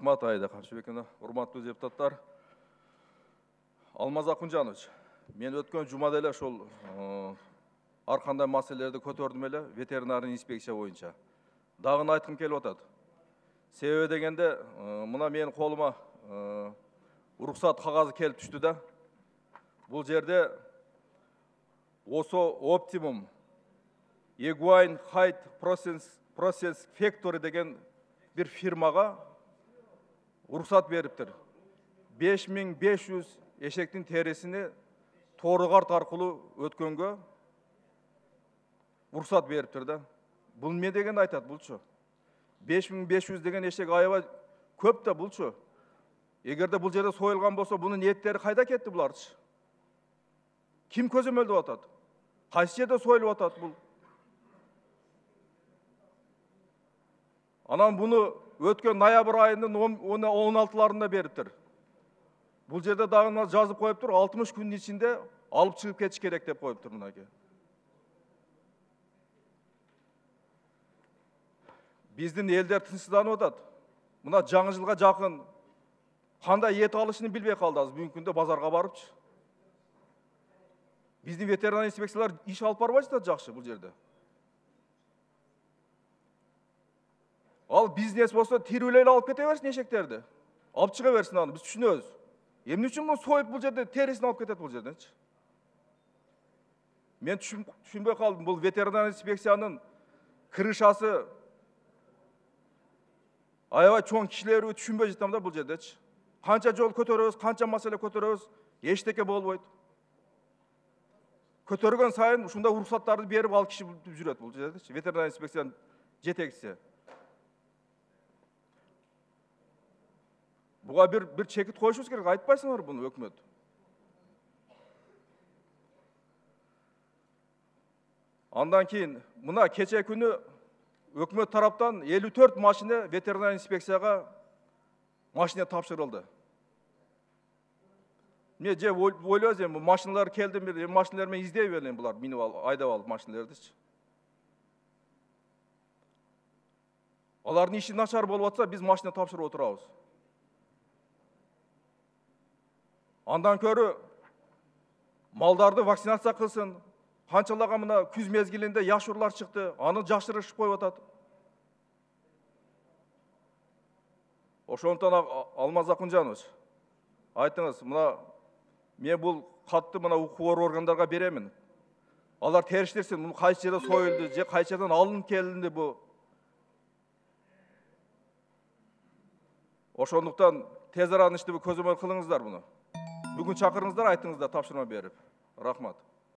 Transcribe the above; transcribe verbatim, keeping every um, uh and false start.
Рахмат Айда Камшыбековна. Урматтуу депутаттар. Алмаз Акунжанович, мен өткөн жумада эле ошол ар кандай маселелерди көтөрдүм эле ветеринарный инспекция боюнча. Дагы айткым келип атат. Себеби дегенде, мына менин колума уруксат кагазы келип түштү да. Бул жерде Осо Оптимум Equine Height Process Process Factory деген bir фирмага уруксат бериптир. беш миң беш жүз эшектин терисини тоору карт аркылуу өткөнгө уруксат бериптир да. Бул эмне дегенди айтат булчу? беш миң беш жүз деген эшек аябай көп да булчу. Эгерде бул жерде союлган болсо, бунун эттери кайда кетти буларчы? Ким көзөмөлдөп атат? Кайсы жерде союлуп атат бул? Анан буну өткөн ноябрь айынын он алтыларында бериптир. Бул жерде дагы жазып коюптур, алтымыш күндүн ичинде алып чыгып кетиш керек деп коюптур мынаке. Биздин элдер тынчсызданып атат. Мына жаңы жылга жакын кандай эт алышын билбей калды азыр бүгүнкү күндө базарга барыпчы. Биздин ветеринар инспекциялар иш алып барбай жатат жакшы бул жерде. Ал бизнес болсо тирүүлей алып кете берсин эшектерди. Алып чыга берсин аны, биз түшүнөбүз. Эмне үчүн муну союп бул жерде терисин алып кетет бул жерденчи? Мен түшүнбөй калдым. Бул ветеринар инспекциянын крышасы аябай чоң кишилерби түшүнбөй жатам да бул жердечи. Канча жол көтөрөбүз, канча маселе көтөрөбүз, эчтеке болбойт. Көтөргөн сайын ушундай уруксаттарды берип ал киши жүрөт бул жердечи. Ветеринар инспекциянын жетекчиси. Буга бир бир чекит коюшубуз керек, айтпайсыңар буну өкмөт. Андан кийин мына кече күнү өкмөт тараптан элүү төрт машина ветеринар инспекцияга машина тапшырылды. Мен же ойлойбуз эми машиналар келди, бир машиналар менен издей берейин булар, минип алып, айдап алып машиналардычы. Алардын иши начар болуп атса, биз машина тапшырып отурабыз. Андан көрү малдарды вакцинация кылсын. Канчалага мына күз мезгилинде яшурлар чыкты, аны жашырышып коюп атат. Ошондон Алмаз Акунжанович, айтыңыз, мына мен бул катты мына укук органдарга беремин. Алар териштирсин, муну кайсы жерде союлду, же кайсы жерден алынып келинди бу. Ошондуктан тез арада иштеп көзөмөл кылыңыздар буну. Бүгүн чакырыңыздар, айтыңыздар тапшырма берип. Рахмат.